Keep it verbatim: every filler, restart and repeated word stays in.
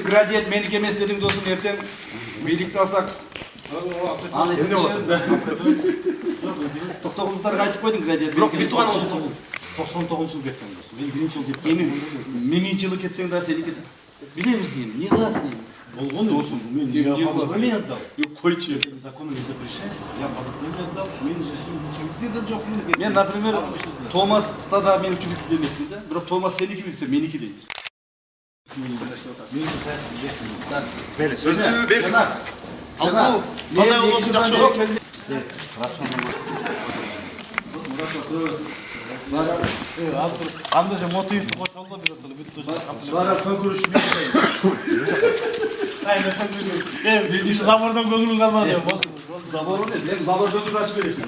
градиент меники эмес дедиң досум, эртең бийликти алсак. Аны эсептешебиз. токтогуздуктарга айтып койдуң градиент. Бирок бүтүп анабыз токсон тогузунчу жыл кеткен досум. Мен биринчи жыл кеткен. Эми миңинчи жылы кетсең да сеники билебиз дейм. Не кыласың дейм. Болгон досум, мен не кыласың? Мен отдал. Койчу. Законом не запрещается. Я подоконник отдал, мен же учебникте да жокмун. Мен, например, Томаста да мен учебникте эмесмин да. Бирок Томас сеники билсе, меники дейт. Сөздү бер. Алгу, кандай болсун жакшы болот. Анда же мотивди кошолду биз отолу бүт тош. Бара көкүрүш мен. Айна көкүрүш. Э, бир забордон көңүлүң калмады. Забор эмес, мен забор көкүрүш ачып бересиң.